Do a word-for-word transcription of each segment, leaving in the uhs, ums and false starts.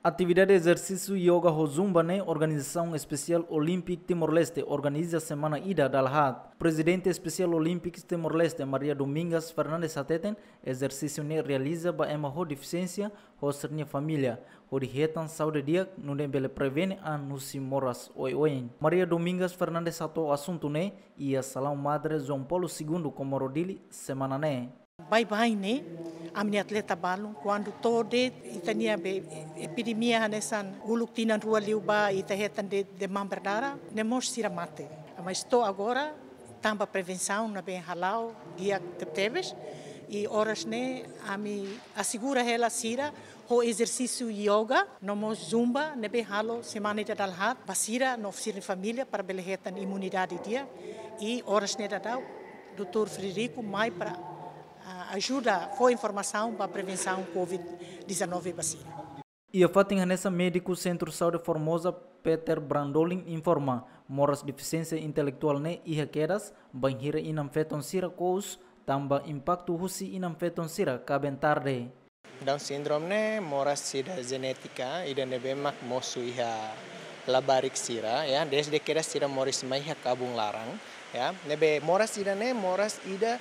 Atividade ezersísiu yoga ho zumba ne'e Organizasaun Espesiál Olímpik Timor-Leste organiza semana ida dala haat. Prezidente Espesiál Olímpik Timor-Leste, Maria Domingas Fernandes hateten, ezersísiu ne'e realiza ba ema ho defisiénsia ho sira-nia família, hodi hetan saúde di'ak nune'e bele prevene an husi moras oioin. Maria Domingas Fernandes hato'o asuntu ne'e iha Salaun Madre João Paulo Segundo, Comoro, Dili, semana ne'e. Baibain ne'e, ami-nia atleta balun, kuandu to'o de'it ita-nia be epidemia hanesan uluk tinan rua liubá ita hetan de'it demam berdarah, ne'e mós sira mate. Mas to'o agora, tanba prevensaun ne'ebé hala'o di'ak tebetebes, i oras ne'e ami asegura hela sira ho ezersísiu yoga no mós zumba ne'ebé halo semana ida dala haat ba sira no sira-nia família para bele hetan imunidade di'ak. I oras ne'e daudaun doutór Frederico mai para, ah, ajuda fó informasaun ba prevensaun covid dezanove ba sira. Iha fatin hanesan, médiku Sentru Saúde Formosa, Peter Brandolin, informa, moras defisiénsia intelektuál ne'e iha kedas bainhira inan-feton sira kous tanba impaktu husi inan-feton sira kaben tarde. Down syndrome ne'e moras ida jenétika ida ne'ebé mak mosu iha labarik sira, ya, dezde kedas sira moris mai iha kabun laran, ya. Ne'ebé moras ida ne'e moras ida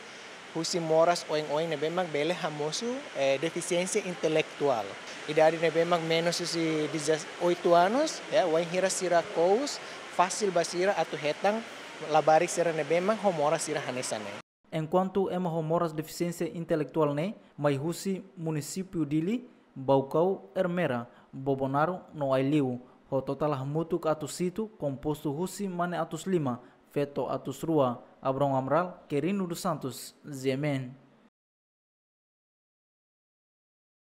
husi moras oioin ne'ebé mak bele hamosu, eh, defisiénsia intelektuál. Idade ne'ebé mak menus husi dezoito anos, ya, wainhira sira kous, fasil ba sira atu hetan labarik sira ne'ebé mak ho moras sira hanesan ne'e. Enkuantu ema ho moras defisiénsia intelektuál ne'e mai husi munisípiu Dili, Baucau, Ermera, Bobonaro no Aileu, ho totál hamutuk atus hitu, kompostu husi mane atus lima, feto atus rua. Abrão Amaral, Querino dos Santos, G M N.